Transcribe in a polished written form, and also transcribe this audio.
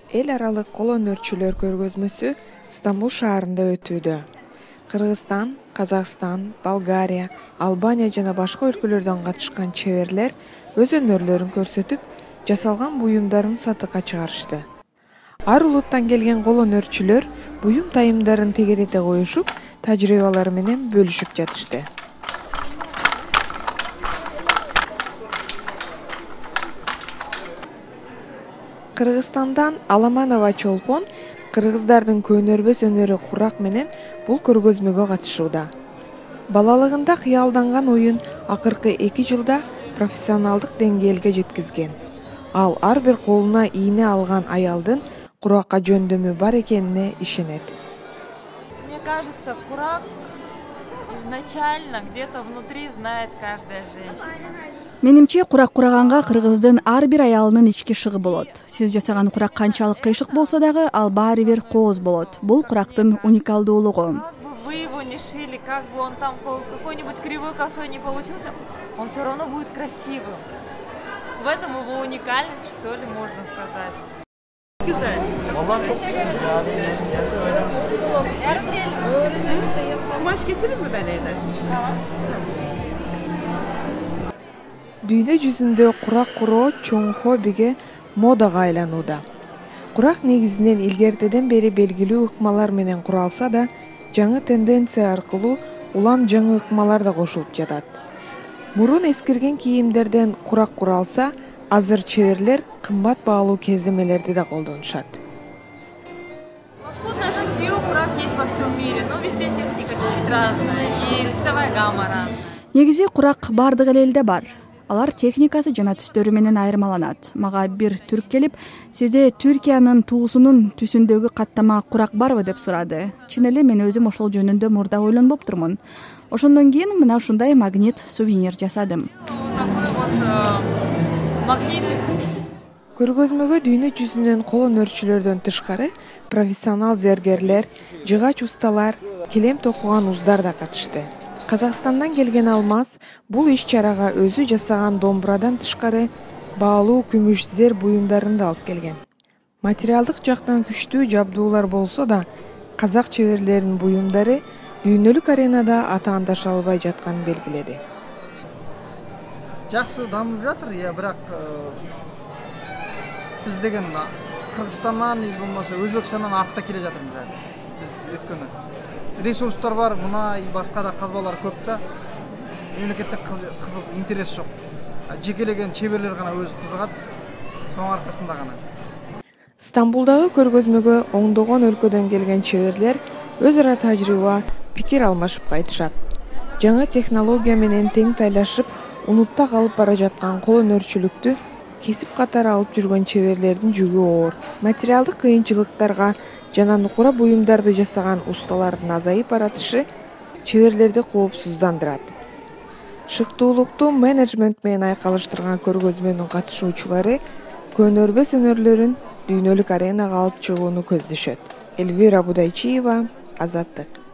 Эл аралык кол өнөрчүлөр көргөзмөсү Стамбул шаарында өтүүдө. Кыргызстан, Казакстан, Болгария, Албания жана башка өлкөлөрдөн катышкан чеберлер өз өнөрлөрүн көрсөтүп, жасалган буюмдарын сатыкка чыгарышты. Ар улуттан келген кол өнөрчүлөр буюм тайымдарын тегерете коюшуп, тажрыйбалары менен бөлүшүп жатышты. Кыргызстандан Аламанова Чолпон кыргыздардын көнөрбөс өнөрү курак менен бул көргөзмөгө катышууда. Балалыгында кыялданган оюн акыркы 2 жылда профессионалдык деңгээлге жеткизген. Ал ар бир колуна ийне алган аялдын куракка жөндөмү бар экенине ишенет. Мне кажется, курак изначально где-то внутри знает каждая женщина. Менимче, курак кураганга кыргыздын ар бир аялынын ички шыгы болот. Сиз жасаган курак канчалык кыйшык болсо дагы, ал баары бир кооз болот. Бул курактын уникалдуулугу. Вы его не шили, как бы он там какой-нибудь кривой косой не получился, он все равно будет красивым. В этом его уникальность, что ли, можно сказать. Güzel. Kumaş getirir mi ben evden? Дүйнө жүзүндө курак куроо чоң хоббиге, модага айланууда. Курак негизинен илгертеден бери белгилүү ыкмалар менен куралса да, жаңы тенденция аркылуу улам жаңы ыкмалар да кошулуп жатат. Мурун эскирген кийимдерден курак куралса, азыр чеберлер кымбат баалуу кездемелерди да колдонушат. Скудное шитье, курак есть во всем мире, но везде техника чуть-чуть разная, и цветовая гамма разная. Негизи курак бардык элде бар. Алар техникасы жана түстөрү менен айырмаланат. Мага бир түрк келип, сизде Түркиянын туусунун түсүндөгү каттама курак барбы деп сурады. Чын эле мен өзүм ошол жөнүндө мурда ойлонбоптурмун. Ошондон кийин мына ушундай магнит сувенир жасадым. Такой вот магнитик. Көргөзмөгө дүйнө жүзүнөн кол өнөрчүлөрдөн тышкары профессионал зергерлер, жыгач усталар, килем токуган уздар да катышты. Казакстандан келген Алмаз бул иш-чарага өзү жасаган домбурадан тышкары баалуу күмүш зер буюмдарын да алып келген. Материалдык жактан күчтүү жабдуулар болсо да, казак чеберлеринин буюмдары дүйнөлүк аренада атаандаша албай жатканын белгиледи. Жакшы дамып жатыр, бирок биз деген Кыргызстандан, болмосо Өзбекстандан артта келе жатырмыз. Биз өткөнү ресурстар бар, мына башка да казбалар көп да. Мемлекетте кызык интерес жок. Жекелеген чеберлер гана өзү кызыгат. Соң аркасында гана. Стамбулдагы көргөзмөгө оңдогон өлкөдөн келген чеберлер өз ара тажрыйба, пикир алмашып кайтышат. Жаңы технология менен тең тайлашып, унутта калып бара жаткан кол өнөрчүлүктү кесип катары алып жүргөн чеберлердин жүгү оор. Материалдык кыйынчылыктарга жана нукура буюмдарды жасаган усталардын азайып баратышы чеберлерди коопсуздандырат. Шыктуулукту менеджмент менен айкалыштырган көргөзмөнүн катышуучулары көнөрбөс өнөрлөрүн дүйнөлүк аренага алып чыгууну көздөшөт. Элвира Будайчиева, Азаттык.